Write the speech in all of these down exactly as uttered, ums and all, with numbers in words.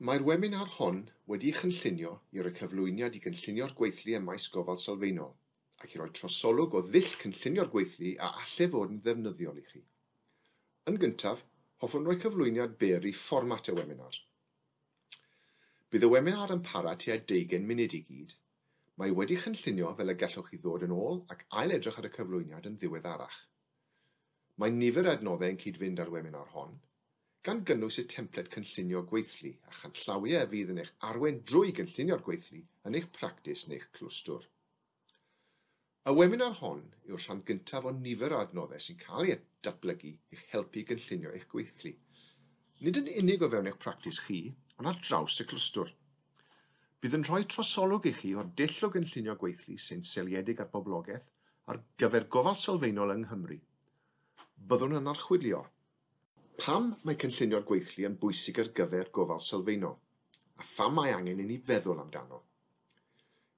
Mae'r webinar hon wedi'i chynllunio i roi cyflwyniad i gynllunio'r gweithlu ym maes gofal sylfaenol ac i roi trosolwg o ddull cynllunio'r gweithlu a allai fod yn ddefnyddiol i chi. Yn gyntaf, hoffwn roi cyflwyniad byr i fformat y webinar. Bydd y webinar yn para tua deugain munud i gyd. Mae wedi chynllunio fel y gallwch chi ddod yn ôl ac ail-edrych ar y cyflwyniad yn ddiweddarach. Mae nifer o adnoddau yn cyd-fynd â'r webinar hon, gan gynnwys y templed cynllunio gweithlu a chanllawiau a fydd yn eich arwain drwy gynllunio'r gweithlu yn eich practis neu'ch clwstwr. Y webinar hon yw'r rhan gyntaf o nifer o adnoddau sy'n cael ei datblygu i'ch helpu i gynllunio eich gweithlu. Nid yn unig o fewn eich practis chi, ond ar draws y clwstwr. Bydd yn rhoi trosolwg i chi o'r dull o gynllunio gweithlu sy'n seiliedig ar boblogaeth ar gyfer gofal sylfaenol yng Nghymru. Byddwn yn archwilio pam mae cynllunio'r gweithlu yn bwysig ar gyfer gofal sylfaenol, a pham mae angen i ni feddwl amdano.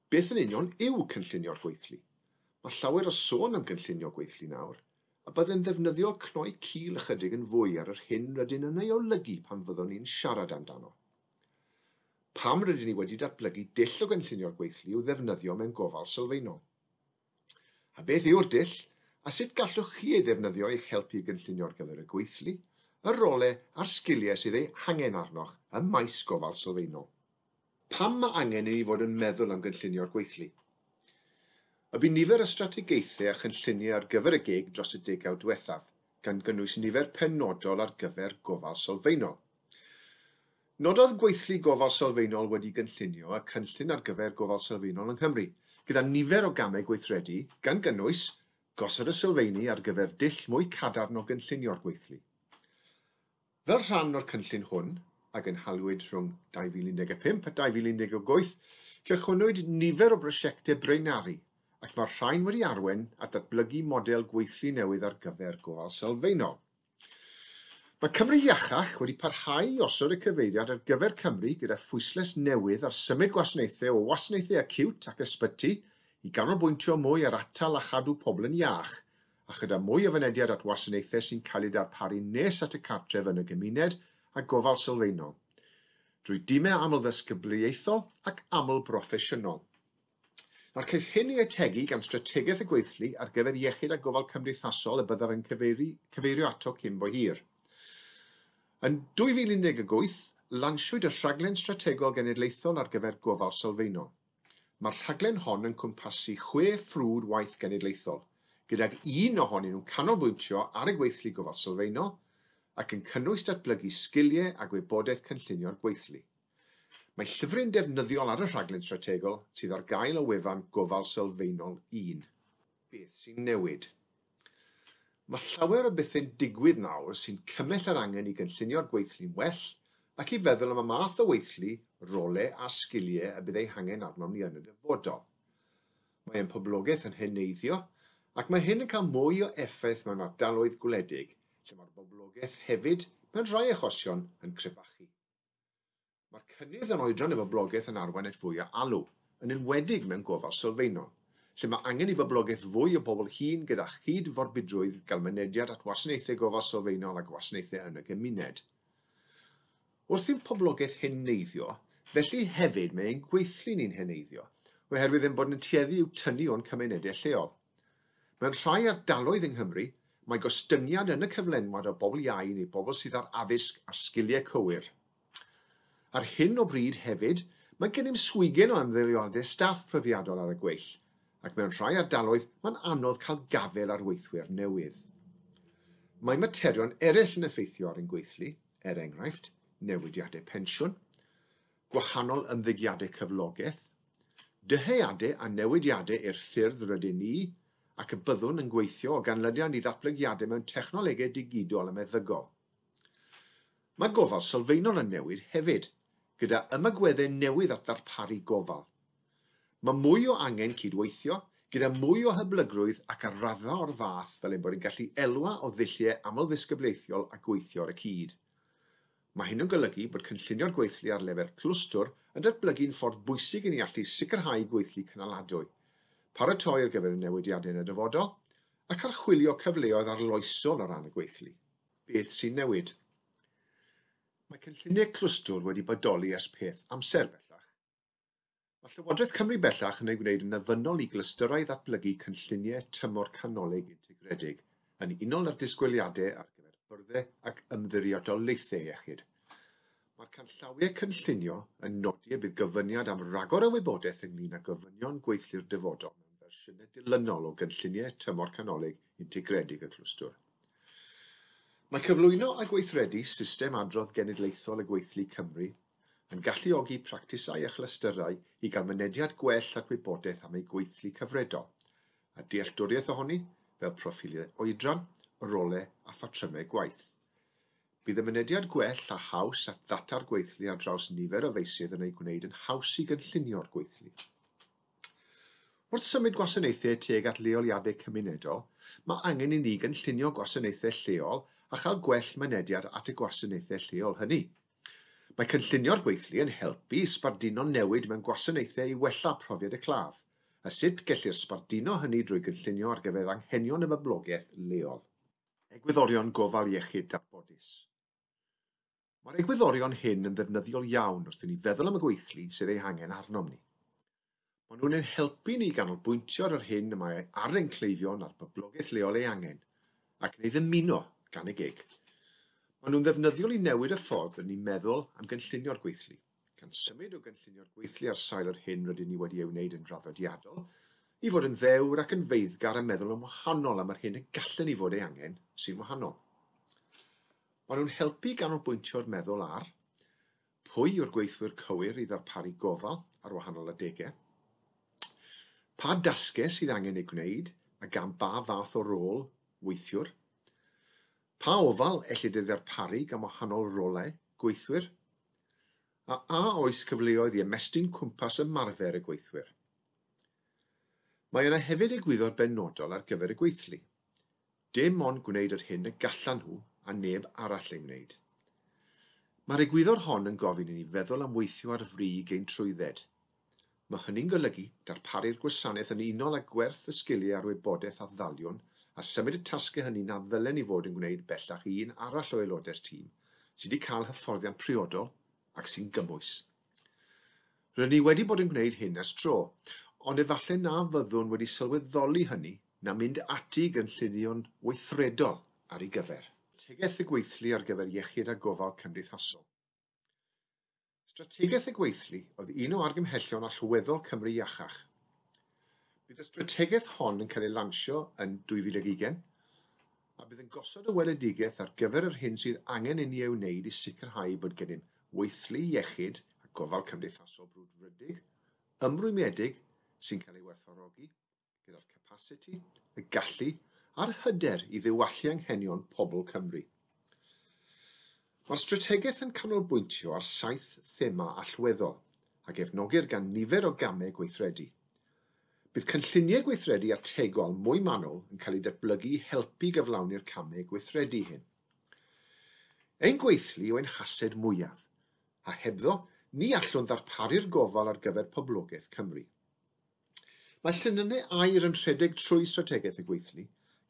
Beth yn union yw cynllunio'r gweithlu? Mae llawer o sôn am gynllunio gweithlu nawr, a byddai'n ddefnyddiol cnoi cil ychydig yn fwy ar yr hyn rydyn yn ei olygu pan fyddwn ni'n siarad amdano. Pam rydyn ni wedi datblygu dull o gynllunio'r gweithlu i'w ddefnyddio mewn gofal sylfaenol? A beth yw'r dull, a sut gallwch chi ei ddefnyddio i'ch helpu i gynllunio ar gyfer y gweithlu, y rolau a'r sgiliau sydd eu hangen arnoch ym maes gofal sylfaenol? Pam mae angen i ni fod yn meddwl am gynllunio'r gweithlu? Y bu nifer o strategaethau a chynlluniau ar gyfer y gig dros y degawd diwethaf, gan gynnwys nifer penodol ar gyfer gofal sylfaenol. Nododd gweithlu gofal sylfaenol wedi gynllunio y cynllun ar gyfer gofal sylfaenol yng Nghymru, gyda nifer o gamau gweithredu, gan gynnwys gosod y sylfaeni ar gyfer dull mwy cadarn o gynllunio'r gweithlu. Fel rhan o'r cynllun hwn, a gynhaliwyd rhwng dau fil un deg pump a dau fil un deg wyth, cychwynnwyd nifer o brosiectau braenaru, ac mae'r rhain wedi arwain at ddatblygu model gweithlu newydd ar gyfer gofal sylfaenol. Mae Cymru Iachach wedi parhau i osod y cyfeiriad ar gyfer Cymru gyda phwyslais newydd ar symud gwasanaethau o wasanaethau acíwt ac ysbyty i ganolbwyntio mwy ar atal a chadw pobl yn iach, a chyda mwy o fynediad at wasanaethau sy'n cael eu darparu nes at y cartref yn y gymuned a gofal sylfaenol, drwy dimau amlddisgyblaethol ac aml-broffesiynol. Nawr, caiff hyn ei ategu gan strategaeth y gweithlu ar gyfer iechyd a gofal cymdeithasol y byddaf yn cyfeiri, cyfeirio ato cyn bo hir. Yn dwy fil un deg wyth, lansiwyd y rhaglen strategol genedlaethol ar gyfer gofal sylfaenol. Mae'r rhaglen hon yn cwmpasu chwe ffrwd waith genedlaethol, gydag un ohonyn nhw'n canolbwyntio ar y gweithlu gofal sylfaenol ac yn cynnwys datblygu sgiliau a gwybodaeth cynllunio'r gweithlu. Mae llyfryn defnyddiol ar y rhaglen strategol sydd ar gael o wefan Gofal Sylfaenol un. Beth sy'n newid? Mae llawer o bethau'n digwydd nawr sy'n cymell yr angen i gynllunio'r gweithlu'n well ac i feddwl am y math o weithlu, rolau a sgiliau y bydd eu hangen arnom ni yn y dyfodol. Mae ein poblogaeth yn heneiddio ac mae hyn yn cael mwy o effaith mewn ardaloedd gwledig, lle mae'r boblogaeth hefyd, mewn rhai achosion, yn crebachu. Mae'r cynnydd yn oedran y boblogaeth yn arwain at fwy o alw, yn enwedig mewn gofal sylfaenol, lle mae angen i boblogaeth fwy o bobl hŷn gyda chyd-forbidrwydd gael mynediad at wasanaethau gofal sylfaenol a gwasanaethau yn y gymuned. Wrth i'n poblogaeth heneiddio, felly hefyd mae ein gweithlu ni'n heneiddio, oherwydd ein bod yn tueddu i'w tynnu o'n cymunedau lleol. Mewn rhai ardaloedd yng Nghymru, mae gostyngiad yn y cyflenwad o bobl iau neu bobl sydd ar addysg a sgiliau cywir. Ar hyn o bryd hefyd, mae gennym swigen o ymddeoliadau staff profiadol ar y gweill, ac mewn rhai ardaloedd mae'n anodd cael gafael ar weithwyr newydd. Mae materion eraill yn effeithio ar ein gweithlu, er enghraifft, newidiadau pensiwn, gwahanol ymddygiadau cyflogaeth, dyheadau a newidiadau i'r ffyrdd rydyn ni, ac y byddwn yn gweithio o ganlyniad i ddatblygiadau mewn technolegau digidol a meddygol. Mae gofal sylfaenol yn newid hefyd, gyda ymagweddau newydd at ddarparu gofal. Mae mwy o angen cydweithio, gyda mwy o hyblygrwydd ac ar raddfa o'r fath fel ein bod yn gallu elwa o ddulliau amlddisgyblaethol a gweithio ar y cyd. Mae hyn yn golygu bod cynllunio'r gweithlu ar lefel clwstwr yn datblygu'n ffordd bwysig i ni allu sicrhau gweithlu cynaladwy, paratoi ar gyfer y newidiadau yn y dyfodol, ac archwilio cyfleoedd arloesol o ran y gweithlu. Beth sy'n newid? Mae cynlluniau clwstwr wedi bodoli ers peth amser bellach. Mae Llywodraeth Cymru bellach yn ei gwneud yn ofynnol i glystyrau ddatblygu cynlluniau tymor canolig integredig yn unol â'r disgwyliadau ar gyfer byrddau ac ymddiriedolaethau iechyd. Mae'r canllawiau cynllunio yn nodi y bydd gofyniad am ragor o wybodaeth ynglŷn â gofynion gweithlu'r dyfodol mewn fersiynau dilynol o gynlluniau tymor canolig integredig y clwstwr. Mae cyflwyno a gweithredu system adrodd genedlaethol y gweithlu Cymru yn galluogi practisau a chlystyrau i gael mynediad gwell at wybodaeth am eu gweithlu cyfredol, a dealltwriaeth ohoni fel proffiliau oedran, rolau a phatrymau gwaith. Bydd y mynediad gwell a haws at ddata'r gweithlu ar draws nifer o feysydd yn ei gwneud yn haws i gynllunio'r gweithlu. Wrth symud gwasanaethau tuag at leoliadau cymunedol, mae angen i ni gynllunio gwasanaethau lleol a chael gwell mynediad at y gwasanaethau lleol hynny. Mae cynllunio'r gweithlu yn helpu i sbarduno newid mewn gwasanaethau i wella profiad y claf, a sut gellir sbarduno hynny drwy gynllunio ar gyfer anghenion y boblogaeth leol. Egwyddorion gofal iechyd darbodus. Mae'r egwyddorion hyn yn ddefnyddiol iawn wrth i ni feddwl am y gweithlu sydd ei hangen arnom ni. Maen nhw'n ein helpu ni ganolbwyntio ar yr hyn y mae ar ein cleifion a'r boblogaeth leol ei angen, ac yn ei ddymuno gan y gig. Maen nhw'n ddefnyddiol i newid y ffordd rydyn ni'n meddwl am gynllunio'r gweithlu, gan symud o gynllunio'r gweithlu ar sail yr hyn rydyn ni wedi ei wneud yn draddodiadol, i fod yn ddewr ac yn feiddgar a meddwl yn wahanol am yr hyn y gallen ni fod ei angen sy'n wahanol. Maen nhw'n helpu i ganolbwyntio'r meddwl ar pwy yw'r gweithwyr cywir i ddarparu gofal ar wahanol adegau, pa dasgau sydd angen eu gwneud a gan ba fath o rôl weithiwr, pa ofal ellid ei ddarparu gan wahanol rolau gweithwyr, a a oes cyfleoedd i ymestyn cwmpas ymarfer y gweithwyr. Mae yna hefyd egwyddor benodol ar gyfer y gweithlu. Dim ond gwneud yr hyn y gallan nhw a neb arall ei wneud. Mae'r egwyddor hon yn gofyn i ni feddwl am weithio ar frig ein trwydded. Mae hynny'n golygu darparu'r gwasanaeth yn unol â gwerth y sgiliau a'r wybodaeth a ddaliwn a symud y tasgau hynny na ddylen ni fod yn gwneud bellach i un arall o aelodau'r tîm sydd wedi cael hyfforddiant priodol ac sy'n gymwys. Rydyn ni wedi bod yn gwneud hyn ers tro, ond efallai na fyddwn wedi sylweddoli hynny na mynd ati i gynllunio'n weithredol ar ei gyfer. Strategaeth y gweithlu ar gyfer iechyd a gofal cymdeithasol. Strategaeth y gweithlu oedd un o argymhellion allweddol Cymru Iachach. Bydd y strategaeth hon yn cael ei lansio yn dwy fil ag ugain, a bydd yn gosod y weledigaeth ar gyfer yr hyn sydd angen i ni ei wneud i sicrhau bod gennym weithlu iechyd a gofal cymdeithasol brwdfrydig, ymrwymedig sy'n cael ei werthfawrogi, gyda'r capasiti, y gallu a'r hyder i ddiwallu anghenion pobl Cymru. Mae'r strategaeth yn canolbwyntio ar saith thema allweddol a gefnogir gan nifer o gamau gweithredu. Bydd cynlluniau gweithredu ategol mwy manwl yn cael eu datblygu i helpu gyflawni'r camau gweithredu hyn. Ein gweithlu yw ein hased mwyaf, a hebddo ni allwn ddarparu'r gofal ar gyfer poblogaeth Cymru. Mae llinynnau aur yn rhedeg trwy strategaeth y gweithlu,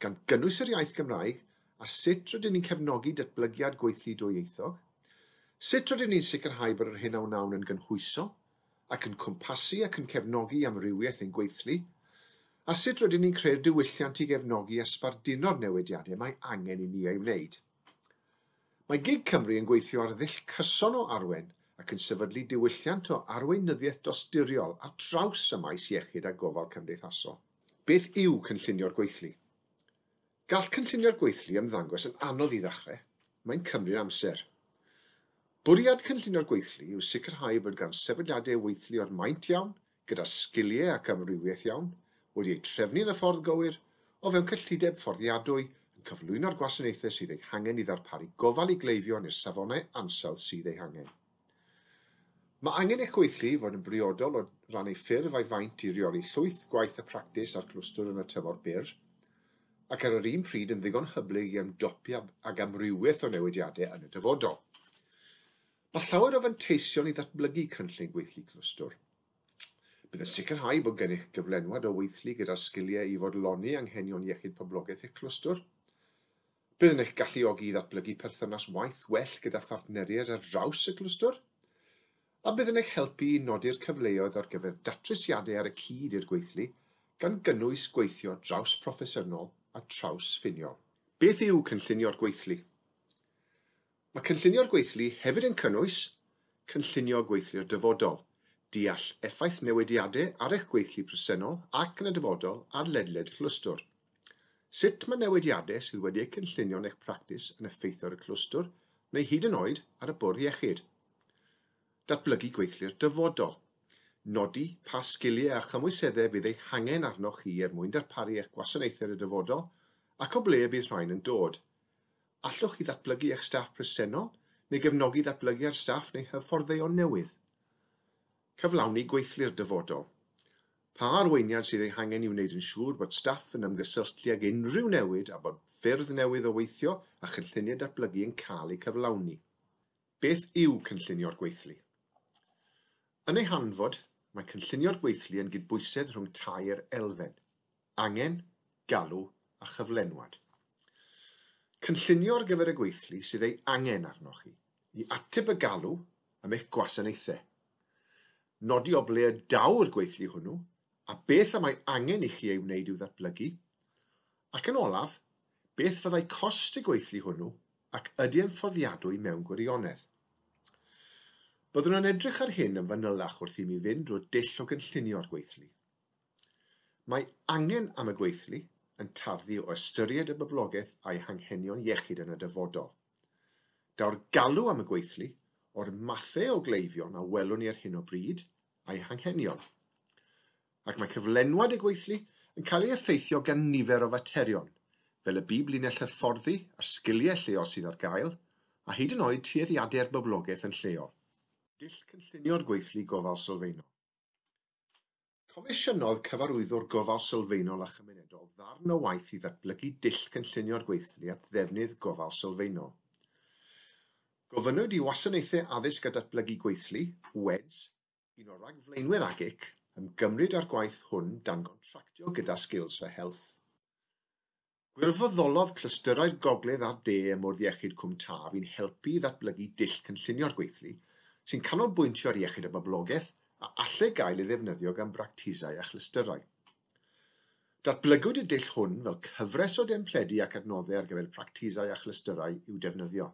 gan gynnwys yr iaith Gymraeg a sut rydyn ni'n cefnogi datblygiad gweithlu dwyieithog, sut rydyn ni'n sicrhau bod yr hyn a wnawn yn gynhwysol, ac yn cwmpasu ac yn cefnogi amrywiaeth ein gweithlu, a sut rydyn ni'n creu'r diwylliant i gefnogi a sbarduno'r newidiadau mae angen i ni ei wneud. Mae gig Cymru yn gweithio ar ddull cyson o arwain ac yn sefydlu diwylliant o arweinyddiaeth dosturiol ar draws y maes iechyd a gofal cymdeithasol. Beth yw cynllunio'r gweithlu? Gall cynllunio'r gweithlu ymddangos yn anodd i ddechrau. Mae'n cymryd amser. Bwriad cynllunio'r gweithlu yw sicrhau bod gan sefydliadau weithlu o'r maint iawn, gyda sgiliau ac amrywiaeth iawn, wedi eu trefnu yn y ffordd gywir, o fewn cyllideb fforddiadwy, yn cyflwyno'r gwasanaethau sydd eu hangen i ddarparu gofal i gleifion i'r safonau ansawdd sydd eu hangen. Mae angen eich gweithlu i fod yn briodol o ran ei ffurf a'i faint i reoli llwyth gwaith y practis a'r clwstwr yn y tymor byr, ac ar yr un pryd yn ddigon hyblyg i ymdopi ag amrywiaeth o newidiadau yn y dyfodol. Mae llawer o fanteision i ddatblygu cynllun gweithlu clwstwr. Bydd yn sicrhau bod gennych gyflenwad o weithlu gyda'r sgiliau i fodloni anghenion iechyd poblogaeth eich clwstwr. Bydd yn eich galluogi i ddatblygu perthynas waith well gyda phartneriaid ar draws y clwstwr, a bydd yn eich helpu i nodi'r cyfleoedd ar gyfer datrysiadau ar y cyd i'r gweithlu, gan gynnwys gweithio draws proffesiynol a trawsffiniol. Beth yw cynllunio'r gweithlu? Mae cynllunio'r gweithlu hefyd yn cynnwys cynllunio gweithlu'r dyfodol, deall effaith newidiadau ar eich gweithlu presennol ac yn y dyfodol ar ledled y clwstwr. Sut mae newidiadau sydd wedi eu cynllunio yn eich practis yn effeithio ar y clwstwr neu hyd yn oed ar y bwrdd iechyd. Datblygu gweithlu'r dyfodol. Nodi pa sgiliau a chymwyseddau fydd eu hangen arnoch chi er mwyn darparu eich gwasanaethau yn y dyfodol ac o ble bydd rhain yn dod. Allwch chi ddatblygu eich staff presennol neu gefnogi ddatblygu'r staff neu hyfforddeion newydd? Cyflawni gweithlu'r dyfodol. Pa arweiniad sydd ei hangen i wneud yn siŵr bod staff yn ymgysylltu ag unrhyw newid a bod ffyrdd newydd o weithio a chynlluniau datblygu yn cael eu cyflawni? Beth yw cynllunio'r gweithlu? Yn ei hanfod, mae cynllunio'r gweithlu yn gydbwysedd rhwng tair elfen: angen, galw a chyflenwad. Cynllunio ar gyfer y gweithlu sydd ei angen arnoch chi i ateb y galw am eich gwasanaethau. Nodi o ble y daw'r gweithlu hwnnw a beth y mae angen i chi ei wneud i'w ddatblygu, ac yn olaf, beth fyddai cost y gweithlu hwnnw ac ydy yn fforddiadwy mewn gwirionedd. Byddwn yn edrych ar hyn yn fanylach wrth i mi fynd drwy'r dull o gynllunio'r gweithlu. Mae angen am y gweithlu yn tarddu o ystyried y boblogaeth a'i hanghenion iechyd yn y dyfodol. Daw'r galw am y gweithlu o'r mathau o gleifion a welwn ni ar hyn o bryd a'i hanghenion. Ac mae cyflenwad y gweithlu yn cael ei effeithio gan nifer o faterion, fel y biblinell hyfforddi a'r sgiliau lleol sydd ar gael, a hyd yn oed tueddiadau'r boblogaeth yn lleol. Dull cynllunio'r gweithlu gofal sylfaenol. Comisiynodd Cyfarwyddwr Gofal Sylfaenol a Chymunedol ddarn o waith i ddatblygu dull cynllunio'r gweithlu at ddefnydd gofal sylfaenol. Gofynnwyd i Wasanaethau Addysg a Datblygu Gweithlu, W E D S, un o ragflaenwyr A G I C, ymgymryd â'r gwaith hwn dan gontractio gyda Skills for Health. Gwirfoddolodd clystyrau'r Gogledd a'r De ym Mwrdd Iechyd Cwm Taf i'n helpu i ddatblygu dull cynllunio'r gweithlu sy'n canolbwyntio ar iechyd y boblogaeth a allai gael ei ddefnyddio gan bractisau a chlystyrau. Datblygwyd y dull hwn fel cyfres o dempledi ac adnoddau ar gyfer practisau a chlystyrau i'w defnyddio.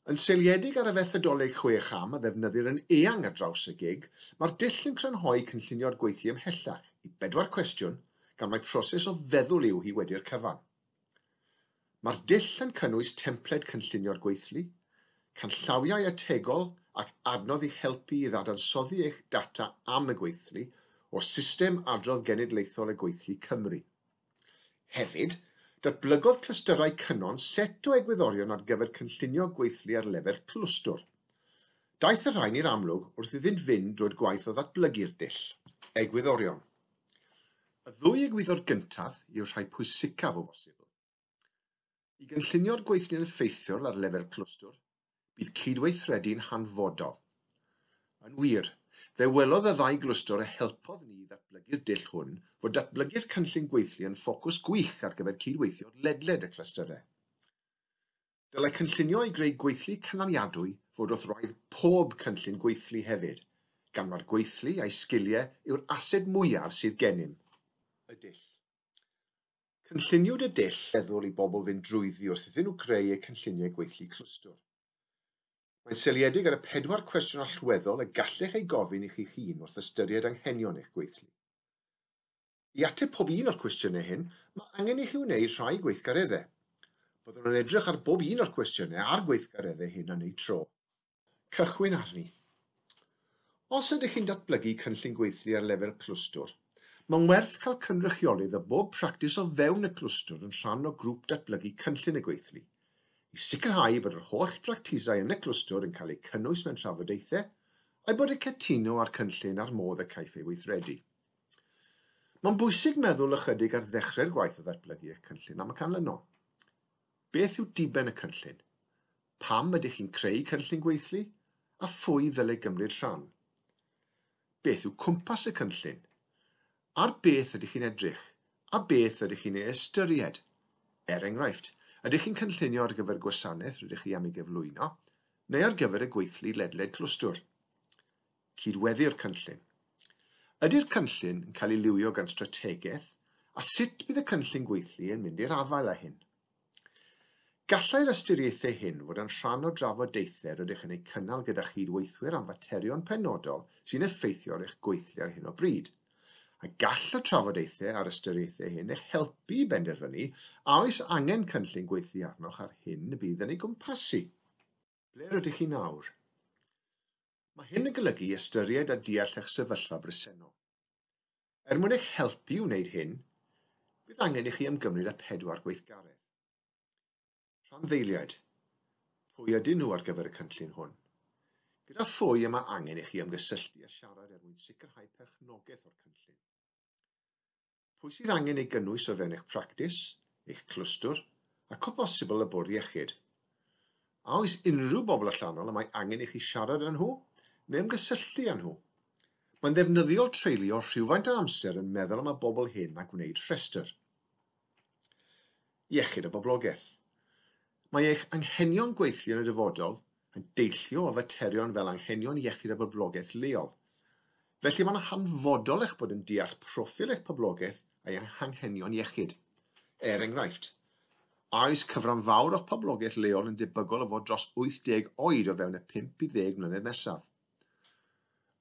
Yn seiliedig ar y fethodoleg chwe cham a ddefnyddir yn eang ar draws y gig, mae'r dull yn crynhoi cynllunio'r gweithlu ymhellach i bedwar cwestiwn gan mai proses o feddwl yw hi wedi'r cyfan. Mae'r dull yn cynnwys templed cynllunio'r gweithlu, canllawiau ategol ac adnodd i'ch helpu i ddadansoddi eich data am y gweithlu o System Adrodd Genedlaethol y Gweithlu Cymru. Hefyd, datblygodd clystyrau Cynon set o egwyddorion ar gyfer cynllunio gweithlu ar lefel clwstwr. Daeth y rhain i'r amlwg wrth iddynt fynd drwy'r gwaith o ddatblygu'r dull. Egwyddorion. Y ddwy egwyddor gyntaf yw'r rhai pwysicaf o bosibl. I gynllunio'r gweithlu'n effeithiol ar lefel clwstwr, bydd cydweithredu'n hanfodol. Yn wir, fe welodd y ddau glwstwr a helpodd ni i ddatblygu'r dull hwn fod datblygu'r cynllun gweithlu yn ffocws gwych ar gyfer cydweithio ledled y clystyrau. Dylai cynllunio i greu gweithlu cynaliadwy fod wrth wraidd pob cynllun gweithlu hefyd, gan mai'r gweithlu a'i sgiliau yw'r ased mwyaf sydd gennym. Y dull. Cynlluniwyd y dull feddwl i bobl fynd drwyddi wrth iddyn nhw creu eu cynlluniau gweithlu clwstwr. Mae'n seiliedig ar y pedwar cwestiwn allweddol y gallech eu gofyn i chi'ch hun wrth ystyried anghenion eich gweithlu. I ateb pob un o'r cwestiynau hyn, mae angen i chi wneud rhai gweithgareddau. Byddwn yn edrych ar bob un o'r cwestiynau a'r gweithgareddau hyn yn eu tro. Cychwyn arni. Os ydych chi'n datblygu cynllun gweithlu ar lefel clwstwr, mae'n werth cael cynrychiolydd o bob practis o fewn y clwstwr yn rhan o grŵp datblygu cynllun y gweithlu, i sicrhau bod yr holl bractisau yn y clwstwr yn cael eu cynnwys mewn trafodaethau a'i bod yn cytuno â'r cynllun a'r modd y caiff ei weithredu. Mae'n bwysig meddwl ychydig ar ddechrau'r gwaith o ddatblygu eich cynllun am y canlynol. Beth yw diben y cynllun? Pam ydych chi'n creu cynllun gweithlu? A phwy ddylai gymryd rhan? Beth yw cwmpas y cynllun? Ar beth ydych chi'n edrych? A beth ydych chi'n ei ystyried? Er enghraifft, ydych chi'n cynllunio ar gyfer gwasanaeth rydych chi am ei gyflwyno, neu ar gyfer y gweithlu ledled clwstwr? Cydweddu'r cynllun. Ydy'r cynllun yn cael ei lywio gan strategaeth, a sut bydd y cynllun gweithlu yn mynd i'r afael â hyn? Gallai'r ystyriaethau hyn fod yn rhan o drafodaethau rydych yn eu cynnal gyda chydweithwyr am faterion penodol sy'n effeithio ar eich gweithlu ar hyn o bryd. A gall y trafodaethau a'r ystyriaethau hyn eich helpu i benderfynu a oes angen cynllun gweithlu arnoch ar hyn y bydd yn ei gwmpasu. Ble rydych chi nawr? Mae hyn yn golygu ystyried a deall eich sefyllfa bresennol. Er mwyn eich helpu i wneud hyn, bydd angen i chi ymgymryd â pedwar gweithgaredd. Rhanddeiliaid. Pwy ydyn nhw ar gyfer y cynllun hwn? Gyda phwy y mae angen i chi ymgysylltu a siarad er mwyn sicrhau perchnogaeth o'r cynllun? Pwy sydd angen ei gynnwys o fewn eich practis, eich clwstwr, ac o bosibl y bwrdd iechyd? A oes unrhyw bobl allanol y mae angen i chi siarad â nhw neu ymgysylltu â nhw? Mae'n ddefnyddiol treulio rhywfaint o amser yn meddwl am y bobl hyn a gwneud rhestr. Iechyd y boblogaeth. Mae eich anghenion gweithlu yn y dyfodol yn deillio o faterion fel anghenion iechyd y boblogaeth leol. Felly mae'n hanfodol eich bod yn deall proffil eich poblogaeth a'i anghenion iechyd. Er enghraifft, a oes cyfran fawr o'ch poblogaeth leol yn debygol o fod dros wyth deg oed o fewn y pump i ddeg mlynedd nesaf?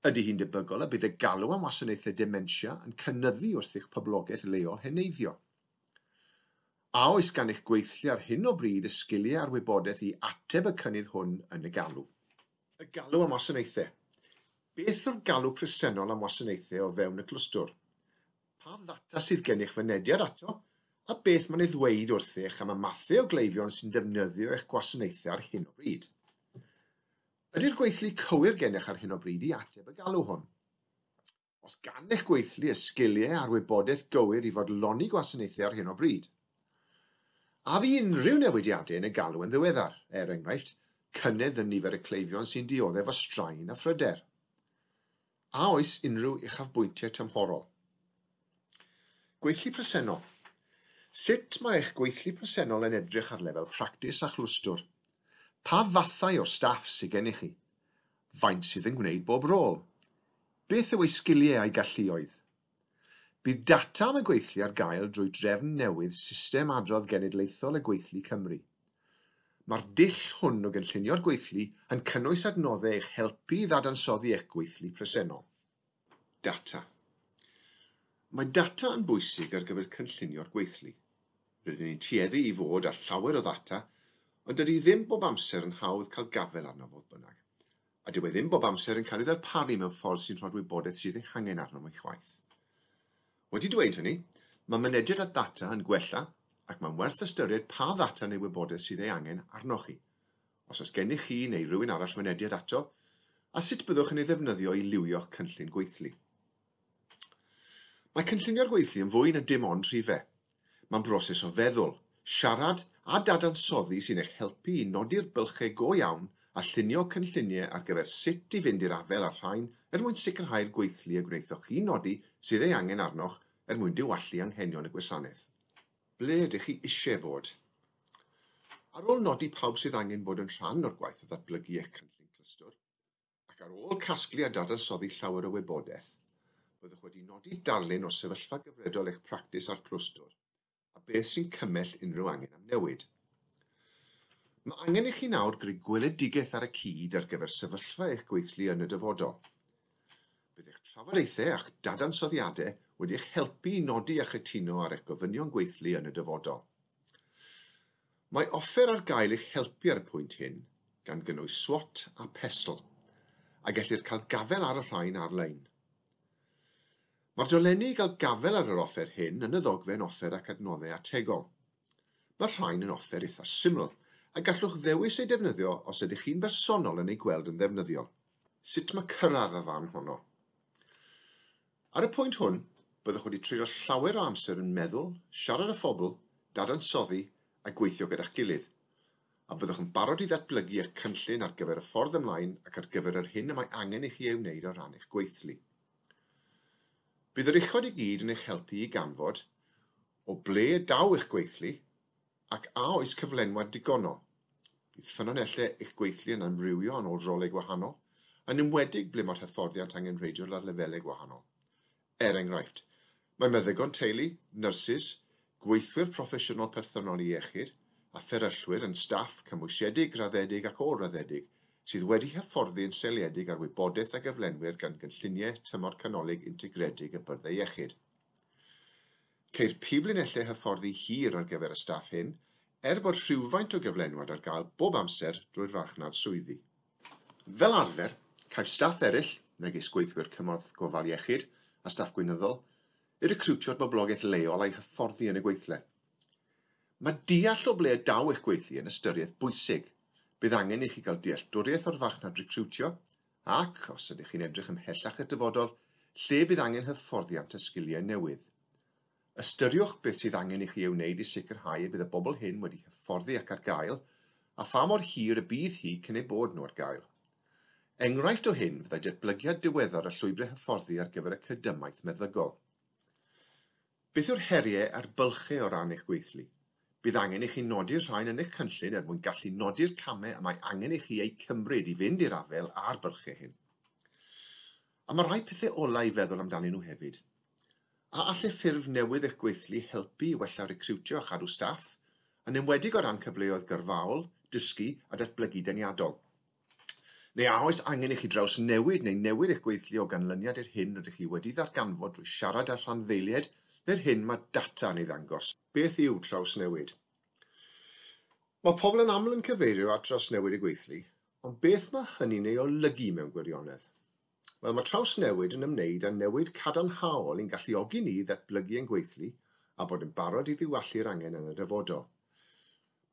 Ydy hi'n debygol y bydd y galw am wasanaethau dementia yn cynyddu wrth i'ch poblogaeth leol heneiddio? A oes gan eich gweithlu ar hyn o bryd y sgiliau a'r wybodaeth i ateb y cynnydd hwn yn y galw? Y galw am wasanaethau. Beth yw'r galw presennol am wasanaethau o fewn y clwstwr? Pa ddata sydd gennych fynediad ato, a beth mae'n ei ddweud wrthych am y mathau o gleifion sy'n defnyddio eich gwasanaethau ar hyn o bryd? Ydy'r gweithlu cywir gennych ar hyn o bryd i ateb y galw hwn? Os gan eich gweithlu y sgiliau a'r wybodaeth gywir i fodloni gwasanaethau ar hyn o bryd? A fu unrhyw newidiadau yn y galw yn ddiweddar, er enghraifft, cynnydd yn nifer y cleifion sy'n dioddef o straen a phryder? A oes unrhyw uchafbwyntiau tymhorol? Gweithlu presennol. Sut mae eich gweithlu presennol yn edrych ar lefel practis a chlwstwr? Pa fathau o staff sydd gennych chi? Faint sydd yn gwneud bob rôl? Beth yw eu sgiliau a'u galluoedd? Bydd data am y gweithlu ar gael drwy drefn newydd System Adrodd Genedlaethol y Gweithlu Cymru. Mae'r dull hwn o gynllunio'r gweithlu yn cynnwys adnoddau eich helpu i ddadansoddi eich gweithlu presennol. Data. Mae data yn bwysig ar gyfer cynllunio'r gweithlu. Rydyn ni'n tueddu i fod â llawer o ddata, ond dydy ddim bob amser yn hawdd cael gafael arno fodd bynnag, a dyw e ddim bob amser yn cael ei ddarparu mewn ffordd sy'n rhoi'r wybodaeth sydd ei hangen arno ei chwaith. Wedi dweud hynny, mae mynediad at ddata yn gwella ac mae'n werth ystyried pa ddata neu wybodaeth sydd ei angen arnoch chi. Os oes gennych chi neu rywun arall mynediad ato, a sut byddwch yn ei ddefnyddio i lywio'ch cynllun gweithlu. Mae cynllunio'r gweithlu yn fwy na dim ond rhifau. Mae'n broses o feddwl, siarad a dadansoddi sy'n eich helpu i nodi'r bylchau go iawn a llunio cynlluniau ar gyfer sut i fynd i'r afael â'r rhain er mwyn sicrhau'r gweithlu y gwnaethoch chi nodi sydd ei angen arnoch er mwyn diwallu anghenion y gwasanaeth. Ble ydych chi eisiau bod? Ar ôl nodi pawb sydd angen bod yn rhan o'r gwaith o ddatblygu eich cynllun clwstwr, ac ar ôl casglu a dadansoddi llawer o wybodaeth, byddwch wedi nodi darlun o sefyllfa gyfredol eich practis a'r clwstwr, a beth sy'n cymell unrhyw angen am newid. Mae angen i chi nawr greu gweledigaeth ar y cyd ar gyfer sefyllfa eich gweithlu yn y dyfodol. Bydd eich trafodaethau a'ch dadansoddiadau wedi eich helpu i nodi a chytuno ar eich gofynion gweithlu yn y dyfodol. Mae offer ar gael eich helpu ar y pwynt hyn, gan gynnwys SWOT a PESTLE, a gellir cael gafael ar y rhain ar-lein. Mae'r dolenni i gael gafael ar yr offer hyn yn y ddogfen offer ac adnoddau ategol. Mae'r rhain yn offer eitha syml, a gallwch ddewis eu defnyddio os ydych chi'n bersonol yn ei gweld yn ddefnyddiol. Sut mae cyrraedd y fan honno? Ar y pwynt hwn, byddwch wedi treulio llawer o amser yn meddwl, siarad â phobl, dadansoddi a gweithio gyda'ch gilydd, a byddwch yn barod i ddatblygu eich cynllun ar gyfer y ffordd ymlaen ac ar gyfer yr hyn y mae angen i chi ei wneud o ran eich gweithlu. Bydd yr uchod i gyd yn eich helpu i ganfod o ble daw eich gweithlu, ac a oes cyflenwad digonol? Bydd ffynonellau eich gweithlu yn amrywio yn ôl rolau gwahanol, yn enwedig ble mae'r hyfforddiant angenrheidiol ar lefelau gwahanol. Er enghraifft, mae meddygon teulu, nyrsys, gweithwyr proffesiynol perthynol i iechyd a fferyllwyr yn staff cymwysiedig, graddedig ac ôl-raddedig sydd wedi hyfforddi yn seiliedig ar wybodaeth a gyflenwyr gan gynlluniau tymor canolig integredig y byrddau iechyd. Ceir piblinellau hyfforddi hir ar gyfer y staff hyn, er bod rhywfaint o gyflenwad ar gael bob amser drwy'r farchnad swyddi. Fel arfer, caiff staff eraill, megis gweithwyr cymorth gofal iechyd a staff gweinyddol, eu recriwtio'r boblogaeth leol a'i hyfforddi yn y gweithle. Mae deall o ble y daw eich gweithlu yn ystyriaeth bwysig. Bydd angen i chi gael dealltwriaeth o'r farchnad recriwtio ac, os ydych chi'n edrych ymhellach i'r dyfodol, lle bydd angen hyfforddiant a sgiliau newydd. Ystyriwch beth sydd angen i chi ei wneud i sicrhau y bydd y bobl hyn wedi hyfforddi ac ar gael, a pha mor hir y bydd hi cyn eu bod nhw ar gael. Enghraifft o hyn fyddai datblygiad diweddar y llwybrau hyfforddi ar gyfer y cydymaith meddygol. Beth yw'r heriau a'r bylchau o ran eich gweithlu? Bydd angen i chi nodi'r rhain yn eich cynllun er mwyn gallu nodi'r camau y mae angen i chi eu cymryd i fynd i'r afael â'r bylchau hyn. A mae rhai pethau ola i feddwl amdanyn nhw hefyd. A allai ffurf newydd eich gweithlu helpu i wella recriwtio a chadw staff, yn enwedig o ran cyfleoedd gyrfaol, dysgu a datblygu deniadol? Neu a oes angen i chi drawsnewid neu newid eich gweithlu o ganlyniad i'r hyn rydych chi wedi ddarganfod drwy siarad â rhanddeiliaid neu'r hyn mae data yn ei ddangos? Beth yw trawsnewid? Mae pobl yn aml yn cyfeirio at drawsnewid y gweithlu, ond beth mae hynny'n ei olygu mewn gwirionedd? Wel, mae trawsnewid yn ymwneud â newid cadarnhaol i'n galluogi ni ddatblygu ein gweithlu a bod yn barod i ddiwallu'r angen yn y dyfodol.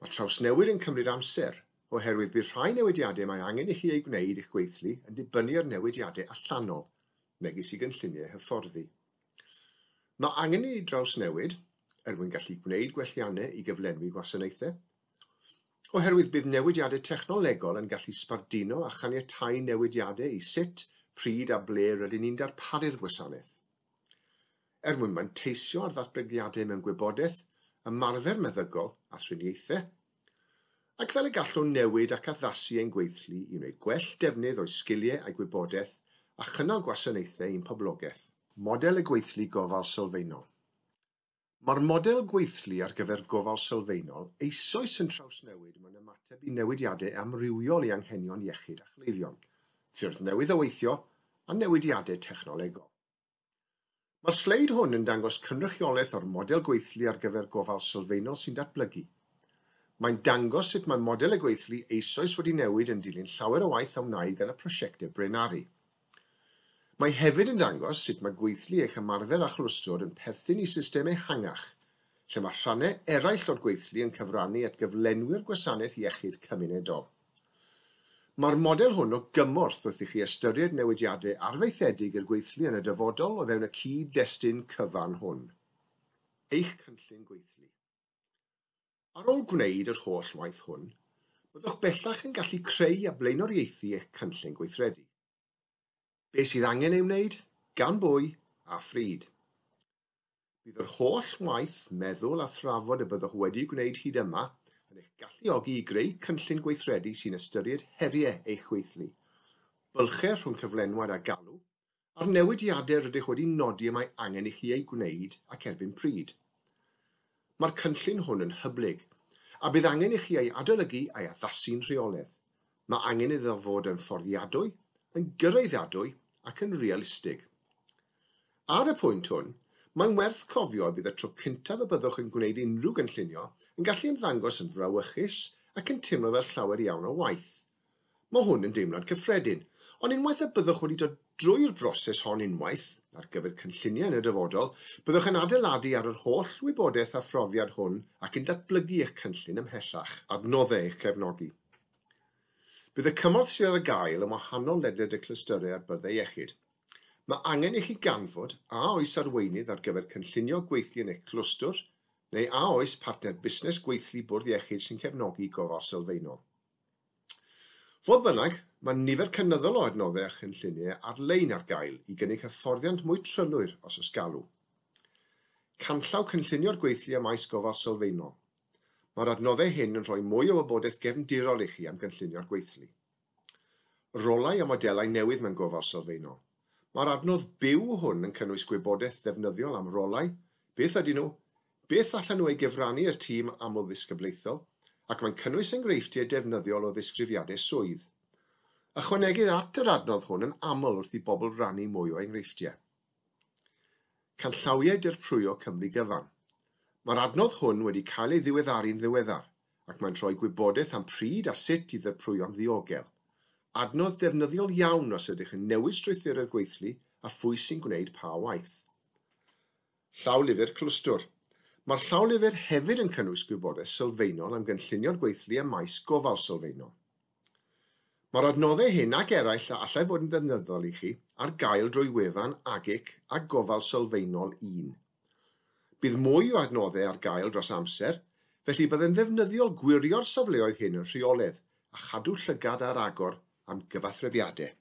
Mae trawsnewid yn cymryd amser, oherwydd bydd rhai newidiadau mae angen i chi eu gwneud i'ch gweithlu yn dibynnu ar newidiadau allanol, megis i gynlluniau hyfforddi. Mae angen i ni drawsnewid er mwyn gallu gwneud gwelliannau i gyflenwi gwasanaethau, oherwydd bydd newidiadau technolegol yn gallu sbarduno a chaniatáu newidiadau i sut, pryd a ble rydyn ni'n darparu'r gwasanaeth. Er mwyn manteisio ar ddatblygiadau mewn gwybodaeth, ymarfer meddygol a thriniaethau, ac fel y gallwn newid ac addasu ein gweithlu i wneud gwell defnydd o'i sgiliau a'i gwybodaeth a chynnal gwasanaethau i'n poblogaeth. Model y gweithlu gofal sylfaenol. Mae'r model gweithlu ar gyfer gofal sylfaenol eisoes yn trawsnewid mewn ymateb i newidiadau amrywiol i anghenion iechyd a chleifion, ffyrdd newydd o weithio a newidiadau technolegol. Mae'r sleid hwn yn dangos cynrychiolaeth o'r model gweithlu ar gyfer gofal sylfaenol sy'n datblygu. Mae'n dangos sut mae model y gweithlu eisoes wedi newid yn dilyn llawer o waith a wnaed gan y prosiectau braenaru. Mae hefyd yn dangos sut mae gweithlu eich ymarfer a chlwstwr yn perthyn i system ehangach, lle mae rhannau eraill o'r gweithlu yn cyfrannu at gyflenwi'r gwasanaeth iechyd cymunedol. Mae'r model hwn o gymorth wrth i chi ystyried newidiadau arfaethedig i'r gweithlu yn y dyfodol o fewn y cyd-destun cyfan hwn. Eich cynllun gweithlu. Ar ôl gwneud yr holl waith hwn, byddwch bellach yn gallu creu a blaenoriaethu eich cynllun gweithredu. Be sydd angen ei wneud, gan bwy a phryd. Bydd yr holl waith, meddwl a thrafod y byddwch wedi gwneud hyd yma yn eich galluogi i greu cynllun gweithredu sy'n ystyried heriau eich gweithlu, bylchau rhwng cyflenwad a galw, a'r newidiadau rydych wedi nodi y mae angen i chi eu gwneud ac erbyn pryd. Mae'r cynllun hwn yn hyblyg, a bydd angen i chi ei adolygu a'i addasu'n rheolaidd. Mae angen iddo fod yn fforddiadwy, yn gyraeddadwy ac yn realistig. Ar y pwynt hwn, mae'n werth cofio y bydd y tro cyntaf y byddwch yn gwneud unrhyw gynllunio yn gallu ymddangos yn frawychus ac yn teimlo fel llawer iawn o waith. Mae hwn yn deimlad cyffredin, ond unwaith y byddwch wedi dod drwy'r broses hon unwaith, ar gyfer cynlluniau yn y dyfodol, byddwch yn adeiladu ar yr holl wybodaeth a phrofiad hwn ac yn datblygu eich cynllun ymhellach, adnoddau eich cefnogi. Bydd y cymorth sydd ar gael yn wahanol ledled y clystyrau a'r byrddau iechyd. Mae angen i chi ganfod a oes arweinydd ar gyfer cynllunio gweithlu yn eich clwstwr, neu a oes partner busnes gweithlu bwrdd iechyd sy'n cefnogi gofal sylfaenol. Fodd bynnag, mae nifer cynyddol o adnoddau a chynlluniau ar-lein ar gael i gynnig hyfforddiant mwy trylwyr os oes galw. Canllaw cynllunio'r gweithlu ym maes gofal sylfaenol. Mae'r adnoddau hyn yn rhoi mwy o wybodaeth gefndirol i chi am gynllunio'r gweithlu. Rolau a modelau newydd mewn gofal sylfaenol. Mae'r adnodd byw hwn yn cynnwys gwybodaeth ddefnyddiol am rolau, beth ydyn nhw, beth allan nhw ei gyfrannu i'r tîm amlddisgyblaethol, ac mae'n cynnwys enghreifftiau defnyddiol o ddisgrifiadau swydd. Ychwanegir at yr adnodd hwn yn aml wrth i bobl rannu mwy o enghreifftiau. Canllawiau dirprwyo Cymru gyfan. Mae'r adnodd hwn wedi cael ei ddiweddaru'n ddiweddar, ac mae'n rhoi gwybodaeth am pryd a sut i ddirprwyo'n ddiogel. Adnodd defnyddiol iawn os ydych yn newid strwythurau'r gweithlu a phwy sy'n gwneud pa waith. Llawlyfr clwstwr. Mae'r llawlyfr hefyd yn cynnwys gwybodaeth sylfaenol am gynllunio'r gweithlu ym maes gofal sylfaenol. Mae'r adnoddau hyn ac eraill a allai fod yn ddefnyddiol i chi ar gael drwy wefan AGIC a Gofal Sylfaenol un. Bydd mwy o adnoddau ar gael dros amser, felly byddai'n ddefnyddiol gwirio'r safleoedd hyn yn rheolaidd a chadw llygad ar agor am gyfathrebiadau.